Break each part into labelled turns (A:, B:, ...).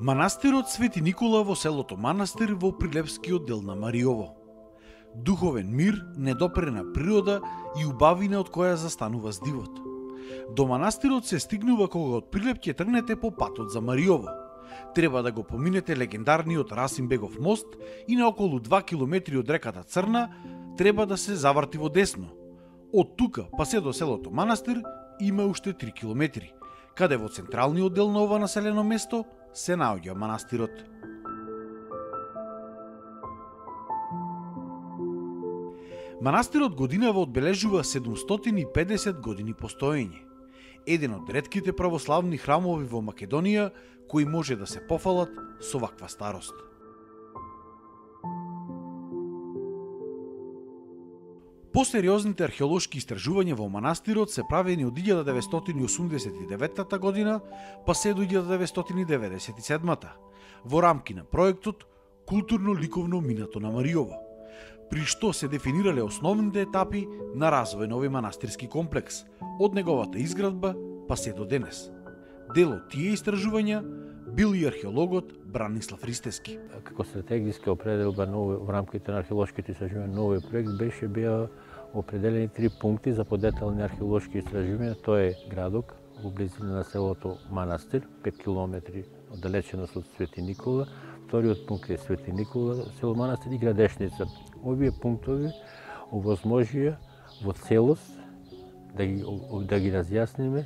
A: Манастирот Свети Никола во селото Манастир во Прилепскиот дел на Мариово. Духовен мир, недопрена природа и убавина од која застанува здивот. До манастирот се стигнува кога од Прилеп ќе тргнете по патот за Мариово. Треба да го поминете легендарниот Расимбегов мост и на околу 2 километри од реката Црна треба да се заврти во десно. Од тука па се до селото Манастир има уште 3 километри, каде во централниот дел на ова населено место се наоѓа манастирот. Манастирот годинава одбележува 750 години постоење. Еден од ретките православни храмови во Македонија кои може да се пофалат со ваква старост. Посериозните археолошки истражувања во манастирот се правени од 1989 година па се до 1997 во рамки на проектот Културно-ликовно минато на Мариово, при што се дефинирале основните етапи на развој на овој манастирски комплекс, од неговата изградба па се до денес. Дел од тие истражувања бил и археологот Бранислав Ристевски.
B: Како стратегиска определба во рамките на археолошките истражувања на овој проект беа определени 3 пункти за подетални археолошки истражувања. Тоа е градок во близина на селото Манастир, 5 километри оддалеченост од Свети Никола. Вториот пункт е Свети Никола, село Манастир и Градешница. Овие пунктови овозможија во целост да ги разјасниме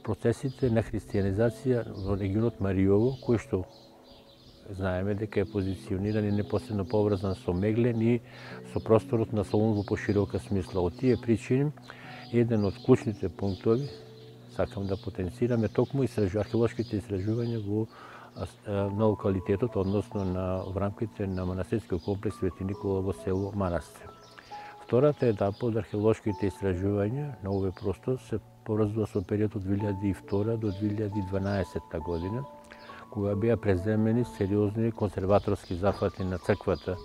B: процесите на христијанизација во регионот Мариово, кој што знаеме дека е позициониран и непосредно поврзан со Меглен и со просторот на Солун во поширока смисла. Од тие причини, еден од клучните пунктови, сакам да потенцираме токму археолошките истражувања на локалитетот, односно во рамките на манастирскиот комплекс Свети Никола во село Манастир. Втората етапа од археолошките истражувања на овој простор се поврзува со периодот од 2002 до 2012 година, кога беа преземени сериозни конзерваторски зафати на црквата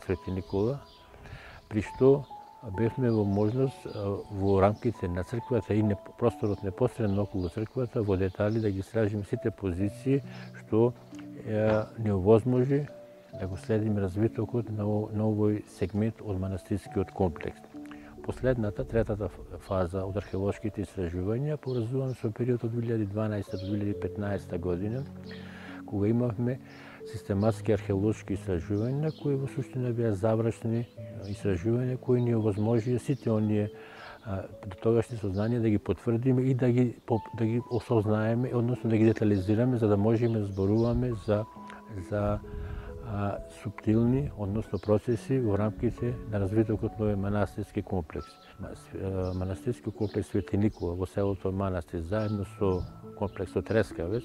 B: Свети Никола, при што бевме во можност во рамките на црквата и просторот непосредно околу црквата во детали да ги истражиме сите позиции што не овозможи да го следиме развитокот на овој сегмент од манастирскиот комплекс. Последната, третата фаза од археолошките истражувања поврзуваме со периодот од 2012 до 2015 година, кога имавме систематски археолошки истражувања кои во суштина беа завршни истражувања кои ни овозможија сите оние до тогашни сознанија да ги потврдиме и да ги осознаеме, односно да ги детализираме за да можеме да зборуваме за суптилни, односно процеси во рамките на развитокот на овој манастирски комплекс. Манастирскиот комплекс Свети Никола во селото Манастир заедно со комплексот Трескавец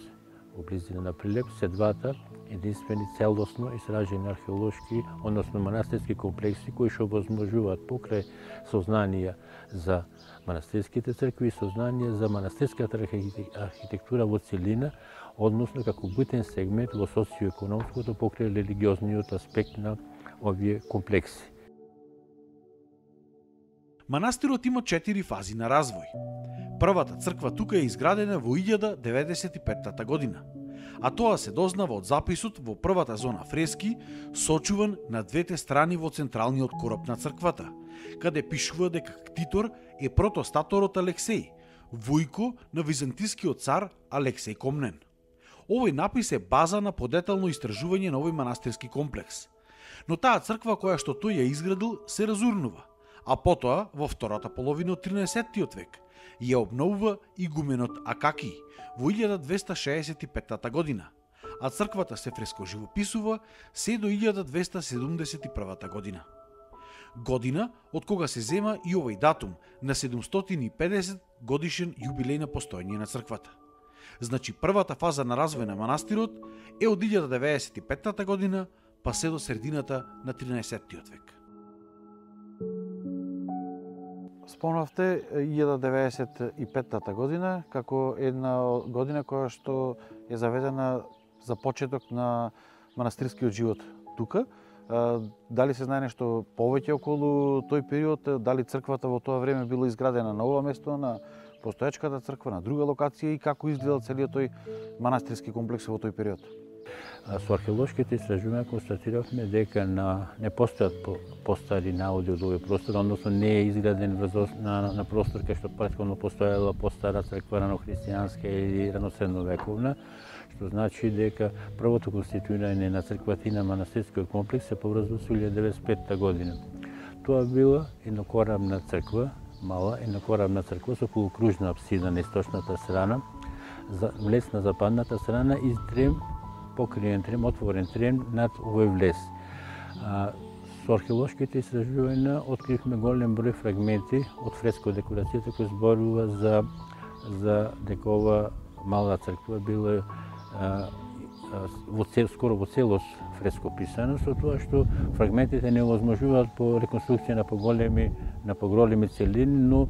B: во близина на Прилеп се двата единствени целосно истражени археолошки, односно манастирски комплекси кои што овозможуваат покрај сознанија за манастирските цркви и сознанија за манастирската архитектура во целина, односно како битен сегмент во социоекономското покрај религиозниот аспект на овие комплекси.
A: Манастирот има 4 фази на развој. Првата црква тука е изградена во 1095 година, а тоа се дознава од записот во првата зона фрески, сочуван на двете страни во централниот короб на црквата, каде пишува дека ктитор е протостаторот Алексеј, војко на византискиот цар Алексеј Комнен. Овој напис е база на подетално истражување на овој манастирски комплекс. Но таа црква која што тој ја изградил се разурнува, а потоа во втората половина од 13-тиот век ја обновува игуменот Акаки во 1265 година, а црквата се фреско живописува се до 1271 година. Година од кога се зема и овој датум на 750 годишен јубилеј на постоење на црквата. Значи првата фаза на развој на манастирот е од 1095 година па се до средината на 13-тиот век.
C: Спомнавте 1095 година како една година која што е заведена за почеток на манастирскиот живот тука. Дали се знае нешто повеќе околу тој период? Дали црквата во тоа време било изградена на ова место, на постоечката црква на друга локација и како изгледал целиот тој манастирски комплекс во тој период?
B: Со археолошките истражувања констатиравме дека не постојат постари наоди од овој простор, односно не е изграден на простор кај што претходно постоела постара црква ранохристијанска или раносредновековна, што значи дека првото конституирање на црквата и на манастирскиот комплекс се поврзува со 1995 година. Тоа била еднокорамна црква, мала еднокорамна црква со полукружна апсида на источната страна, влез на западната страна и трем, покриен трем, отворен трем над овој влез. Со археолошките истражувања откривме голем број фрагменти од фреско декорацијата кој зборува за дека ова мала црква била скоро во целост фреско писано, со тоа што фрагментите не овозможуваат по реконструкција на поголеми целини, но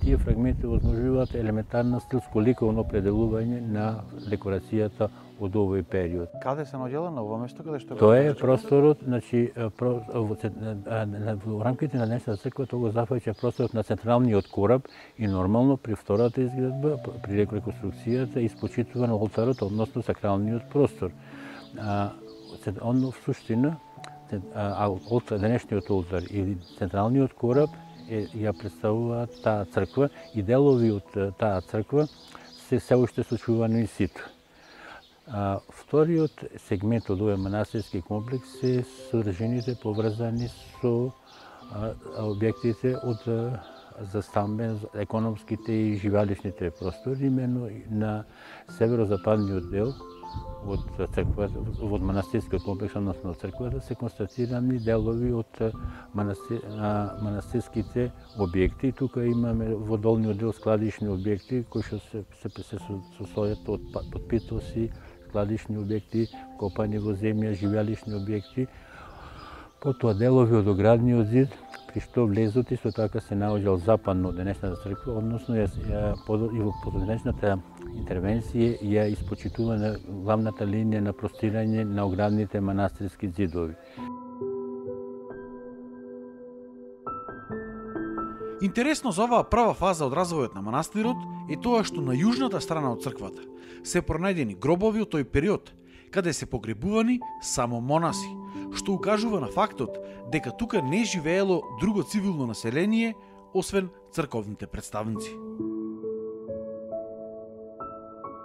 B: тие фрагменти овозможуваат елементарно стилско-ликовно определување на декорацијата од овој период.
C: Каде се наоѓала на ова место каде што
B: Тоа е просторот, значи во рамките на днешната црква тоа го зафаќа просторот на централниот кораб и нормално при втората изградба, при реконструкцијата испочитува на олтарот, односно сакралниот простор. В суштина, денешниот олтар и централниот кораб ја представуваат таа црква и делови од таа црква се уште сочувани in situ. Вториот сегмент од овој манастирски комплекс се содржините поврзани со објектите за стамбен, економските и живалишните простори, именно на северозападниот дел од црквата, од манастирскиот комплекс, односно од црквата, се констатирани делови од манастирските објекти. Тука имаме во долниот дел складишни објекти кои што се состојат од подпитоси, складишни објекти, копани во земја, живеалишни објекти. Потоа делови од оградниот зид, при што влезот исто така се наоѓал западно од денешната црква, односно и во подоцнешната интервенција ја испочитува на главната линија на простирање на оградните манастирски зидови.
A: Интересно за оваа прва фаза од развојот на манастирот е тоа што на јужната страна од црквата се пронајдени гробови од тој период, каде се погребувани само монаси, што укажува на фактот дека тука не живеело друго цивилно население, освен црковните представници.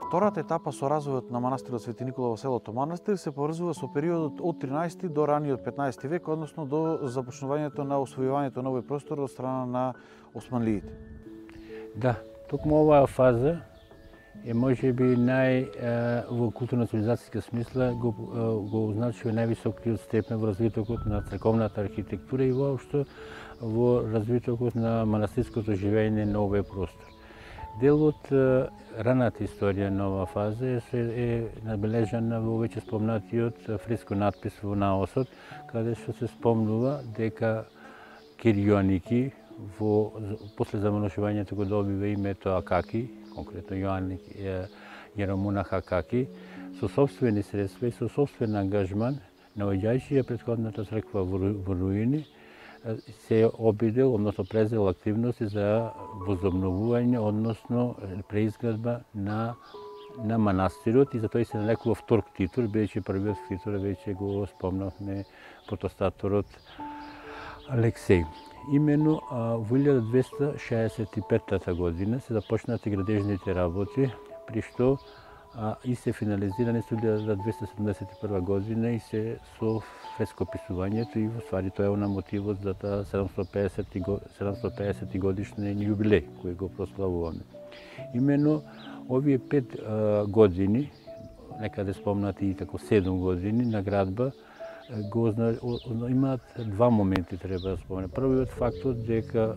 C: Втората етапа со развојот на манастирот Свети Никола во селото Манастир се поврзува со периодот од 13 до раниот 15 век, односно до започнувањето на освојувањето на овој простор од страна на османлиите.
B: Да, токму оваа фаза е можеби во културно-цивилизацијска смисла го означува највисокиот степен во развитокот на црковната архитектура и воопшто во развитокот на манастирското живење на овој простор. Дел од раната историја на оваа фаза е набележана во веќе спомнатиот фреско надпис во наосот, каде што се спомнува дека Кир Јоанники после замножувањето го добива името Акаки, конкретно Јеромонах Акаки, со сопствени средства и со сопствен ангажман, наоѓајќи ја претходната црква во руини, се обидел, односно презел активности за возобновување, односно преизградба на манастирот и затоа се нарекува втор ктитор, бидејќи првиот ктитор веќе го спомнавме протостаторот Алексеј. Именно во 1265 година се започнати градежните работи, при што и се финализирани со 1271 година и се со фрескописувањето и во ствари тоа е на мотивот за таа 750 годишен јубилеј кој го прославуваме. Именно овие 5 години, некаде спомнати и тако 7 години на градба, имаат два моменти треба да спомене. Првиот фактот дека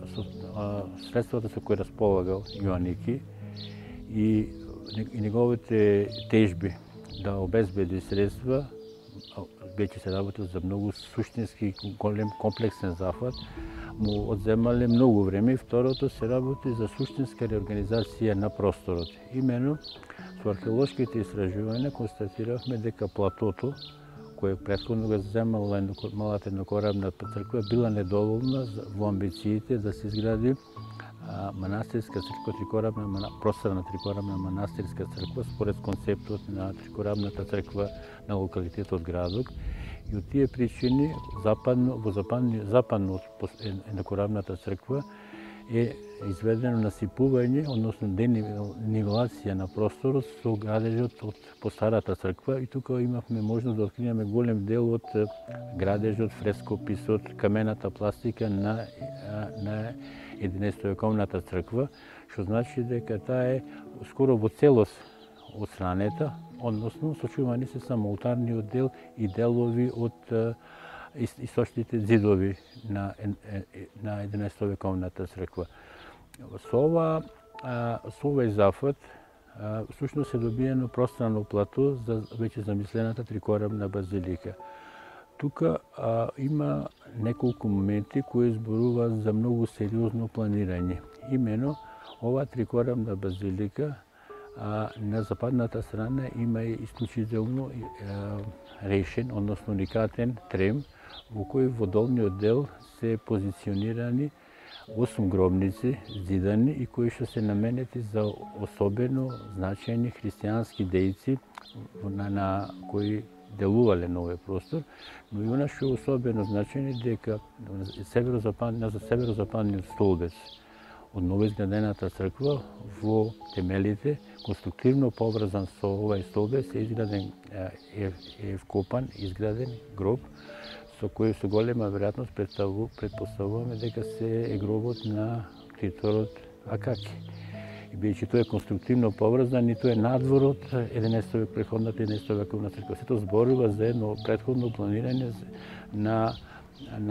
B: средствата со кои располагал Јоанники и неговите тежби да обезбеди средства, веќе се работи за многу суштински голем комплексен зафат, му одземале многу време и второто се работи за суштинска реорганизација на просторот. Именно со археолошките истражувања констатиравме дека платото кој претходно го земала малата еднокорабна црква била недоволна во амбициите да се изгради манастирска црква, просторна трикорабна манастирска црква според концептот на трикорабната црква на локалитетот Градок. И од тие причини западно еднокорабната црква е изведено насипување, односно денивелација на просторот со градежот од постарата црква, и тука имавме можност да откриеме голем дел од градежот, фрескописот, камената пластика на 11-вековната црква, што значи дека таа е скоро во целост отстранета, односно сочувани се само олтарниот дел и делови од источните зидови на 11-вековната црква. Со овој зафат всушност е добиено пространо плато за веќе замислената трикорабна базилика. Тука има неколку моменти кои зборуваат за многу сериозно планирање. Имено, ова трикорабна базилика на западната страна има исклучително решен, односно уникатен трем, во кој во долниот дел се позиционирани 8 гробници зидани и кои што се наменети за особено значајни христијански дејци на кои делувале на овој простор, но и она што е особено значајно дека на северозападниот столбец од новоизградената црква во темелите, конструктивно поврзан со овој столбец, е изграден, е вкопан, изграден гроб, со кој со голема веројатност претпоставуваме дека се е гробот на ктиторот Акаки. И бидејќи тој е конструктивно поврзан и тој е надвор од 11 век, преходната 11 вековна црква. Сето зборува за едно претходно планирање на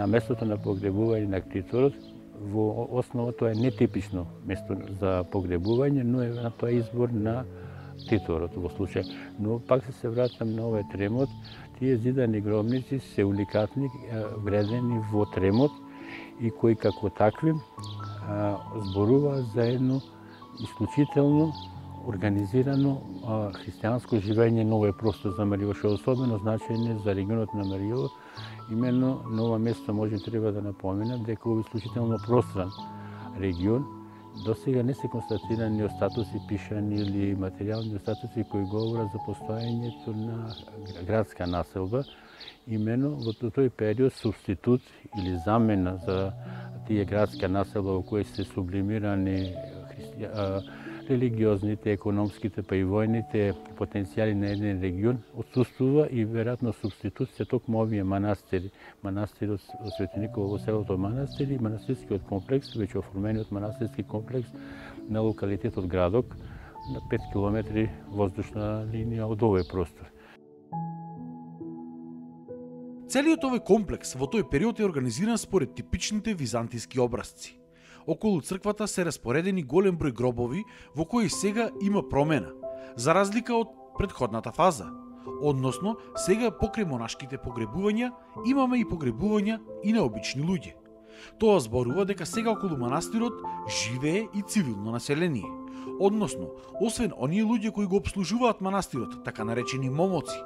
B: местото на погребување на ктиторот. Во основа тоа е нетипично место за погребување, но е тоа избор на ктиторот во случај. Но пак се вратам на овој тремот. Тие зидани гробници се уникатни, вредени во тремот и кои како такви зборуваат за едно исклучително организирано христијанско живење на овој простор за Мариово, што е особено значајно за регионот на Мариово. Именно на ова место може треба да напоменам дека овој исклучително простран регион до сега не се констатирани остатоци пишани или материјални остатоци кои говорат за постоењето на градска населба. Именно во тој период субститут или замена за тие градска населба во кои се сублимирани религиозните, економските, па и војните потенцијали на еден регион отсуствува и веројатно субститут се токму овие манастири. Манастирот Свети Никола во селото Манастир и манастирскиот комплекс, веќе оформениот манастирски комплекс на локалитетот Градок, на 5 километри воздушна линија од овој простор.
A: Целиот овој комплекс во тој период е организиран според типичните византиски образци. Околу црквата се распоредени голем број гробови во кои сега има промена, за разлика од претходната фаза. Односно, сега покрај монашките погребувања имаме и погребувања и на обични луѓе. Тоа зборува дека сега околу манастирот живее и цивилно население. Односно, освен оние луѓе кои го обслужуваат манастирот, така наречени момоци,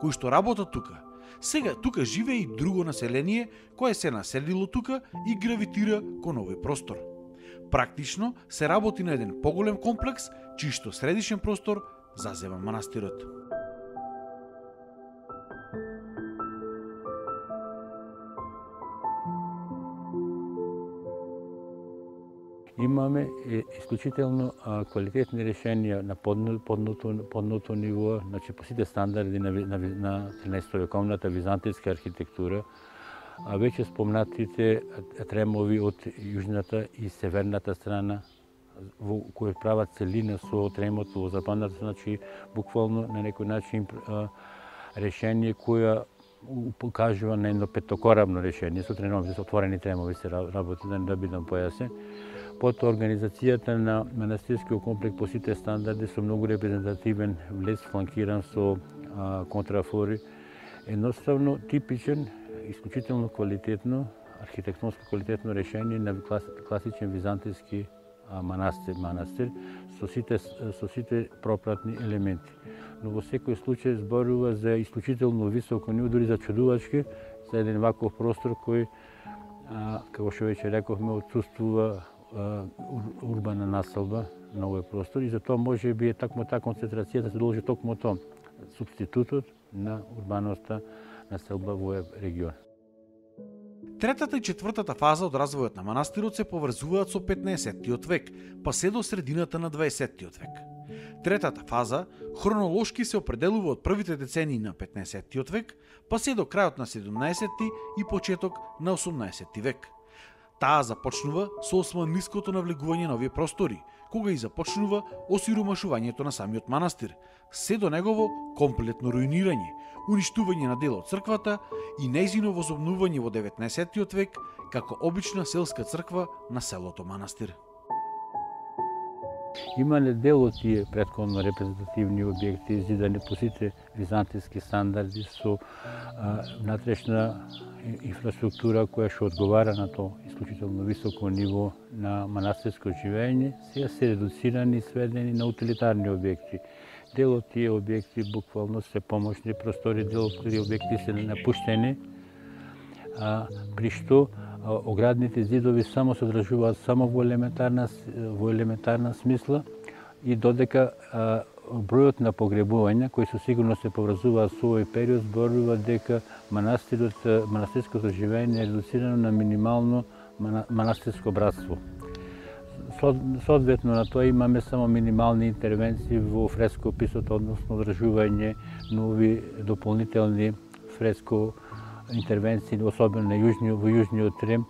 A: кои што работат тука, сега тука живее и друго население кое се населило тука и гравитира кон овој простор. Практично се работи на еден поголем комплекс, чиј што средишен простор зазема манастирот.
B: Имаме исклучително квалитетни решенија на подното ниво, значи по сите стандарди на 13-вековната византијска архитектура, а веќе спомнатите тремови од јужната и северната страна, во кои прават целина со тремот во западната, значи буквално на некој начин решение која покажува на едно петокорабно решение, со тремови, со отворени тремови се работи, да бидам појасен. Потоа организацијата на манастирскиот комплекс по сите стандарди со многу репрезентативен влез фланкиран со контрафори. Едноставно типичен, исклучително квалитетно, архитектонско квалитетно решение на класичен византијски манастир со сите пропратни елементи. Но во секој случај зборува за исклучително високо ниво, дури за чудувачки, за еден ваков простор кој, како што веќе рековме, отсуствува урбана населба на овој простор и затоа може би е такмо таа концентрација да се должи токму тоа, субститутот на урбаноста населба во овој регион.
A: Третата и четвртата фаза од развојот на манастирот се поврзуваат со 15-тиот век, па се до средината на 20-тиот век. Третата фаза хронолошки се определува од првите децении на 15-тиот век, па се до крајот на 17-ти и почеток на 18-ти век. Таа започнува со османлиското навлегување на овие простори, кога и започнува осиромашувањето на самиот манастир, се до негово комплетно руинирање, уништување на дел од црквата и нејзино возобновување во 19-тиот век како обична селска црква на селото манастир.
B: Имале дел од тие претходно репрезентативни објекти изидани по сите византиски стандарди со внатрешна инфраструктура која што одговара на тоа исклучително високо ниво на манастирско живење, сега се редуцирани и сведени на утилитарни објекти. Дел од тие објекти буквално се помошни простори, дел од тие објекти се напуштени, при што оградните зидови само се одржуваат само во елементарна смисла и додека бројот на погребувања кои со сигурност се поврзуваат со овој период зборува дека манастирското живење е редуцирано на минимално манастирско братство. Соодветно на тоа имаме само минимални интервенции во фрескописот, односно одржување нови дополнителни фреско интервенции, особено во јужниот Рим,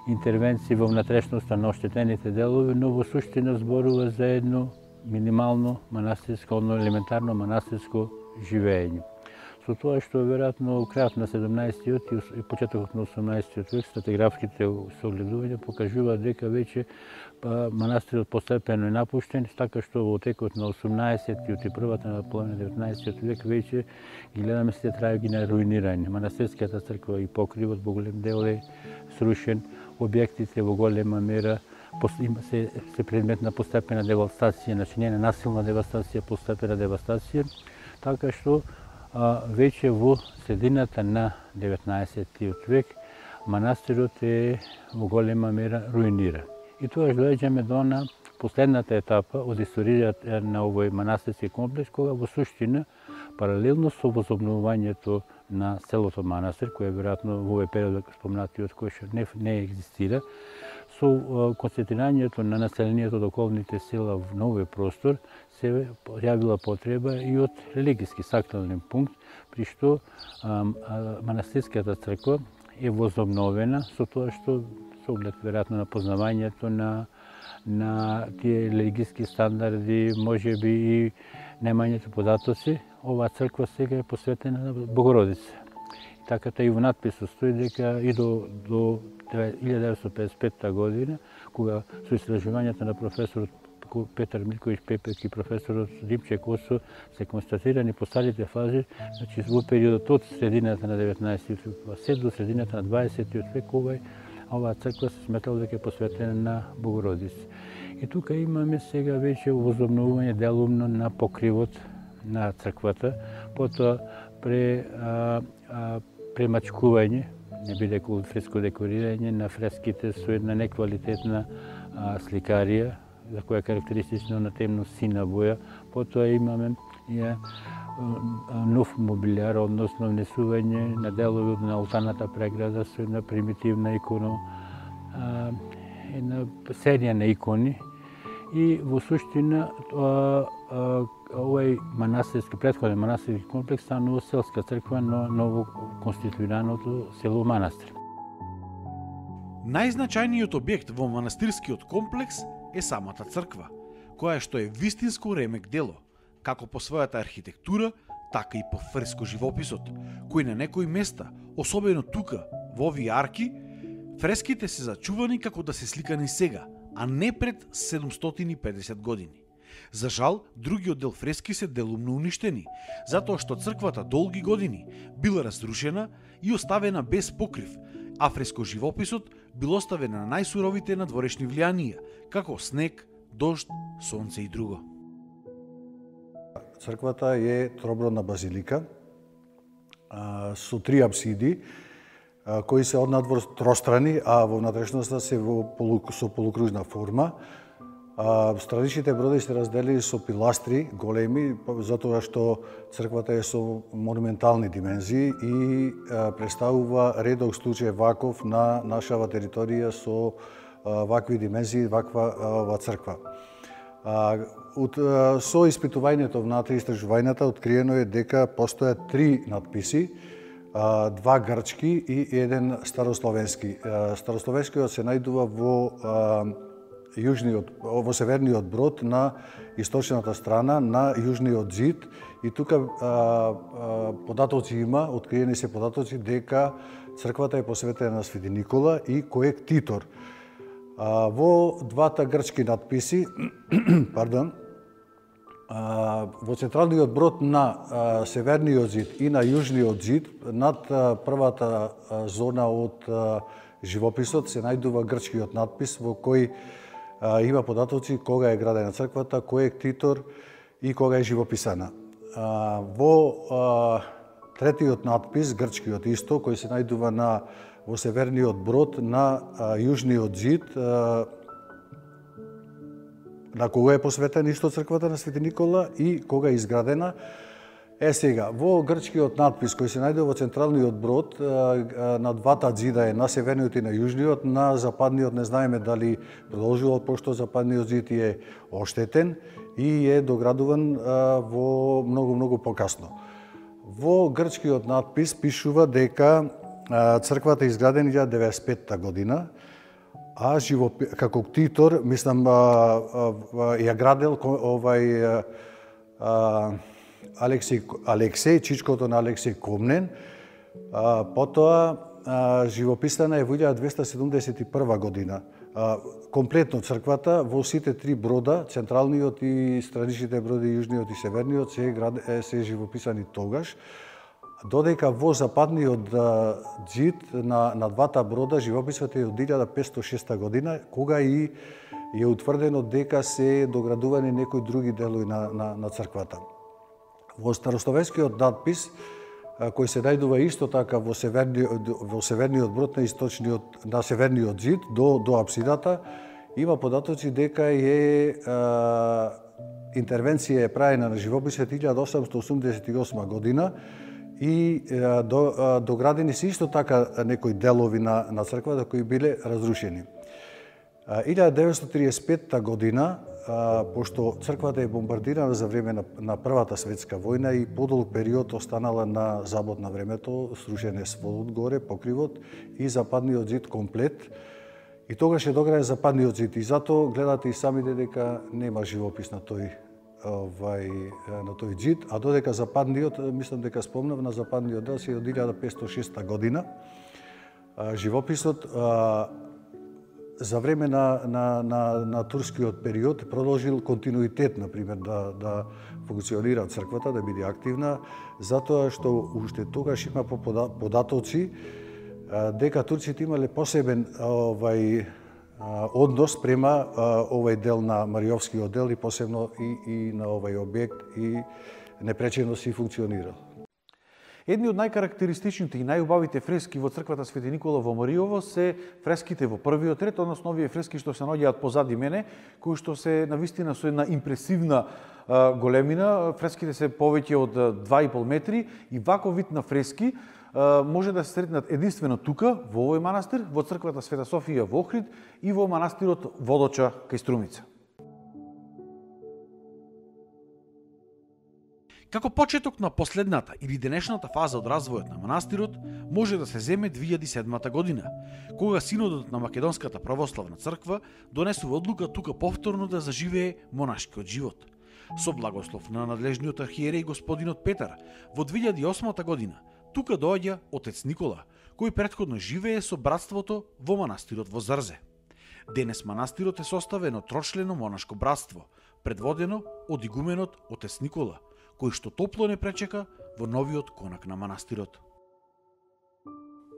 B: интервенции во внатрешноста на оштетените делови, но во суштина зборува за едно минимално манастирско, елементарно манастирско живење. Со тоа што веројатно крајот на 17-тиот и почетокот на 18-тиот век стратиграфските согледувања покажуваат дека веќе манастирот постепено е напуштен, така што во текот на 18-тиот и првата половина на 19-тиот век веќе ги гледаме сите трајги на руинирање. Манастирската црква и покривот во голем дел е срушен, објектите во голема мера се предмет на постепена девастација, значи не насилна девастација, постепена девастација, така што веќе во средината на 19-тиот век манастирот е во голема мера руиниран. И тоа доаѓаме до на последната етапа од историјата на овој манастирски комплекс, кога во суштина паралелно со возобновувањето на селото манастир, кој веројатно во овој период спомнатиот кој што не екзистира, со концентрирањето на населението од околните села на овој простор се јавила потреба и од религиски сакрален пункт, при што манастирската црква е возобновена со тоа што со оглед веројатно на познавањето на тие религиски стандарди, можеби и немањето податоци, оваа црква сега е посветена на Богородица. Така и во надписот стои дека и до 1955 година, кога со истражувањата на професорот Петар Милковиќ Пепек и професорот Римче Косо се констатирани по старите фази, значи во периодот од средината на 19-тиот век се до средината на 20-тиот век оваа црква се сметала дека е посветена на Богородица. И тука имаме сега веќе возобновување делумно на покривот на црквата, потоа премачкување, не бидејќи фреско декорирање на фреските со една неквалитетна сликарија, за која е карактеристично на темно сина боја. Потоа имаме нов мобилјар, односно внесување на делови на олтарната преграда со една примитивна икона, една серија на икони. И во суштина овој манастирски, претходен манастирски комплекс станува селска црква на ново конституираното село манастир.
A: Најзначајниот објект во манастирскиот комплекс е самата црква, која што е вистинско ремек дело, како по својата архитектура, така и по фреско живописот, кој на некои места, особено тука, во овие арки, фреските се зачувани како да се сликани сега, а не пред 750 години. За жал, другиот дел фрески се делумно уништени, затоа што црквата долги години била разрушена и оставена без покрив, а фреско живописот бил оставен на најсуровите надворешни влијанија, како снег, дожд, сонце и друго.
D: Црквата е тробродна базилика со 3 апсиди. кои се однадвор тространи, а во внатрешноста се со полукружна форма. Страничните бродови се разделени со пиластри големи, затоа што црквата е со монументални димензии и представува редок случај ваков на нашава територија со вакви димензии, ваква црква. Со испитувањето внатре, истражувањата, откриено е дека постојат 3 надписи, 2 грчки и 1 старословенски. Старословенскиот се најдува во северниот брод на источната страна на јужниот зид и тука податоци има, откриени се податоци дека црквата е посветена на Свети Никола и кој е ктитор. Во двата грчки надписи, во централниот брод на северниот зид и на јужниот зид, над првата зона од живописот се најдува грчкиот надпис во кој има податоци кога е градена црквата, кој е ктитор и кога е живописана. Во третиот надпис, грчкиот исто, кој се најдува во северниот брод на јужниот зид, на кога е посветена исто црквата на Свети Никола и кога е изградена. Сега, во грчкиот надпис кој се најдува во централниот брод, на двата зида е на северниот и на јужниот, на западниот не знаеме дали продолжувал, пошто западниот зид е оштетен и е доградуван во многу покасно. Во грчкиот надпис пишува дека црквата е изградена 1995 година, а како ктитор, мислам, ја градел Алексеј, чичкото на Алексеј Комнен. Потоа живописана е во 1271 година. Комплетно црквата во сите 3 брода, централниот и страничните броди, јужниот и северниот, се живописани тогаш. Додека во западниот зид на двата брода живописот е од 1506 година, кога и е утврдено дека се доградувани некои други делови на црквата. Во старословенскиот надпис, кој се најдува исто така во северниот брод на северниот зид до апсидата, има податоци дека интервенција е правена на живописот 1888 година и доградени се исто така некои делови на црквата кои биле разрушени. 1935 година, пошто црквата е бомбардирана за време на Првата светска војна и подолг период останала на забод на времето, срушен е сводот горе, покривот и западниот зид комплет. И тогаш е дограден западниот зид и затоа гледате и самите дека нема живопис на тој зид, а додека западниот, мислам дека спомнав, на западниот дел се од 1506 година. Живописот за време на турскиот период продолжил континуитет, например, да функционира црквата, да биде активна, затоа што уште тогаш има податоци дека турците имале посебен однос према овој дел на Мариовскиот дел и посебно и на овој објект и непречено си функционирал.
C: Едни од најкарактеристичните и најубавите фрески во црквата Свети Никола во Мариово се фреските во првиот ред, односно овие фрески што се наоѓаат позади мене, кои што се навистина со една импресивна големина. Фреските се повеќе од 2,5 метри и ваков вид на фрески може да се сретнат единствено тука, во овој манастир, во црквата Света Софија во Охрид и во манастирот Водоча кај Струмица.
A: Како почеток на последната или денешната фаза од развојот на манастирот може да се земе 2007 година, кога Синодот на Македонската православна црква донесува одлука тука повторно да заживее монашкиот живот. Со благослов на надлежниот архиереј господинот Петар, во 2008 година тука доаѓа отец Никола, кој претходно живее со братството во манастирот во Зрзе. Денес манастирот е составен од трочлено монашко братство, предводено од игуменот отец Никола, кој што топло не пречека во новиот конак на манастирот.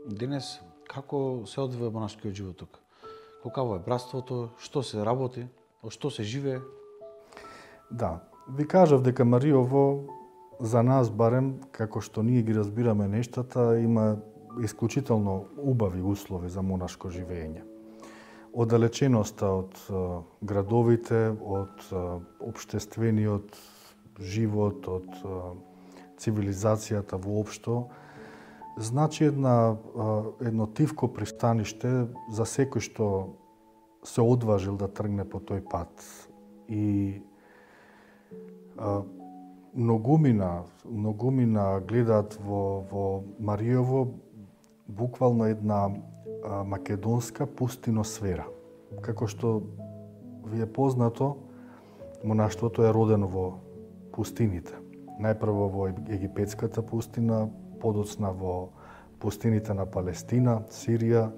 C: Денес, како се одвива монашкиот живот тука? Какво е братството, што се работи, од што се живее?
E: Да, ви кажав дека Мариово, за нас барем, како што ние ги разбираме нештата, има исклучително убави услови за монашко живење. Оддалеченоста од градовите, од општествениот живот, од цивилизацијата воопшто, значи едно тивко пристаниште за секој што се одважил да тргне по тој пат. И многумина гледаат во Маријово буквално една македонска пустиносфера. Како што ви е познато, монаштвото е родено во пустините. Најпрво во египетската пустина, подоцна во пустините на Палестина, Сирија,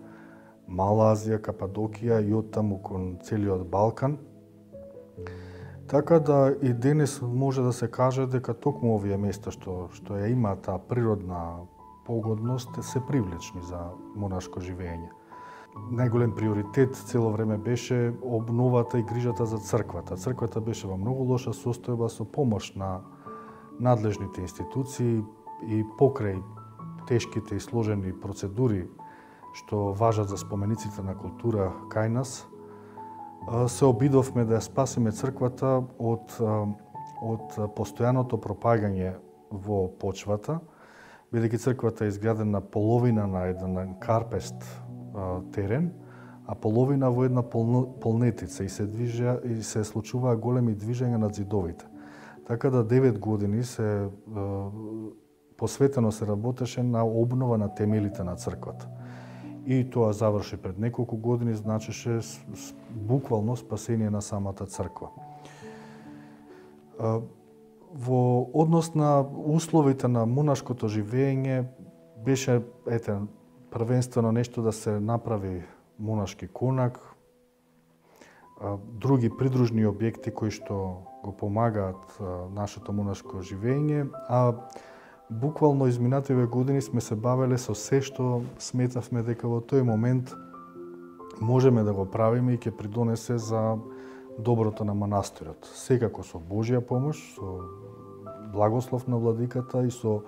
E: Мала Азија, Кападокија и оттаму кон целиот Балкан. Така да и денес може да се каже дека токму овие места што ја има таа природна погодност се привлечни за монашко живење. Најголем приоритет цело време беше обновата и грижата за црквата. Црквата беше во многу лоша состојба со помош на надлежните институции и покрај тешките и сложени процедури што важат за спомениците на култура кај нас, се обидовме да ја спасиме црквата од постојаното пропагање во почвата, бидејќи црквата е изградена половина на еден карпест терен, а половина во една полнетица и се случуваа големи движења на зидовите. Така да 9 години посветено се работеше на обнова на темелите на црквата. И тоа заврши пред неколку години, значеше буквално спасение на самата црква. Во однос на условите на монашкото живење беше првенствено нешто да се направи монашки конак, други придружни објекти кои што го помагаат нашето монашко живење, а буквално изминативе години сме се бавеле со се што сметавме дека во тој момент можеме да го правиме и ќе придонесе за доброто на манастирот. Секако со Божја помош, со благослов на владиката и со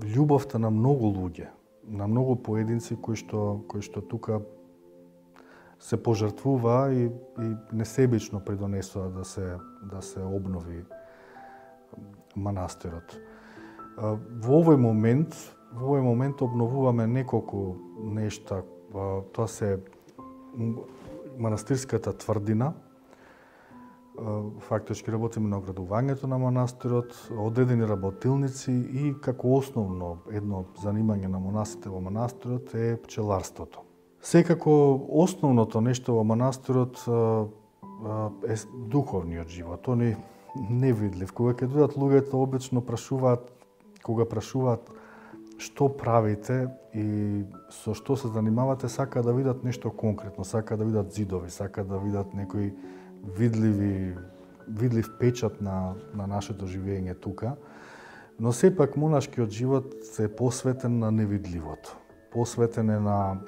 E: љубовта на многу луѓе, на многу поединци кои што тука се пожртвуваа и несебично придонесоа да се обнови манастирот. Во овој момент обновуваме неколку нешта. Тоа се манастирската тврдина. Фактички работиме на оградувањето на манастирот, одредени работилници и како основно едно занимање на монасите во манастирот е пчеларството. Секако основното нешто во манастирот е духовниот живот. Тој е невидлив. Кога ќе дојдат луѓето, обично прашуваат што правите и со што се занимавате, сака да видат нешто конкретно, сака да видат зидови, сака да видат некој видлив печат на нашето живење тука. Но сепак монашкиот живот е посветен на невидливото. Посветен е на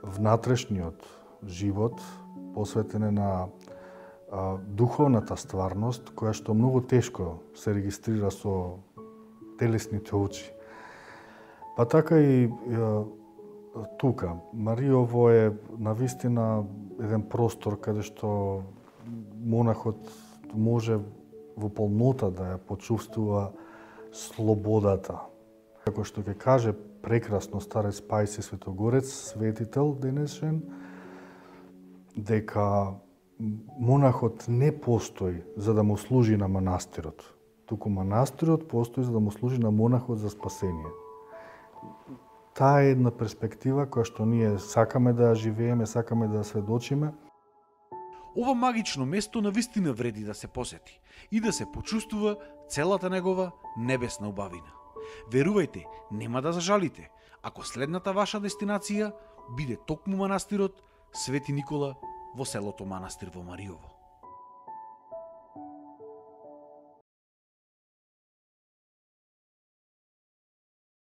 E: внатрешниот живот, посветен е на духовната стварност, која што многу тешко се регистрира со телесните очи. Па така и тука. Маријово е навистина еден простор каде што монахот може во полнота да ја почувствува слободата. Како што ќе каже прекрасно старец Пајси Светогорец, светител денешен, дека монахот не постои за да му служи на манастирот, туку манастирот постои за да му служи на монахот за спасение. Таа е една перспектива која што ние сакаме да ја живееме, сакаме да ја сведочиме.
A: Ова магично место навистина вреди да се посети и да се почувствува целата негова небесна убавина. Верувајте, нема да зажалите, ако следната ваша дестинација биде токму манастирот Свети Никола во селото Манастир во Маријово.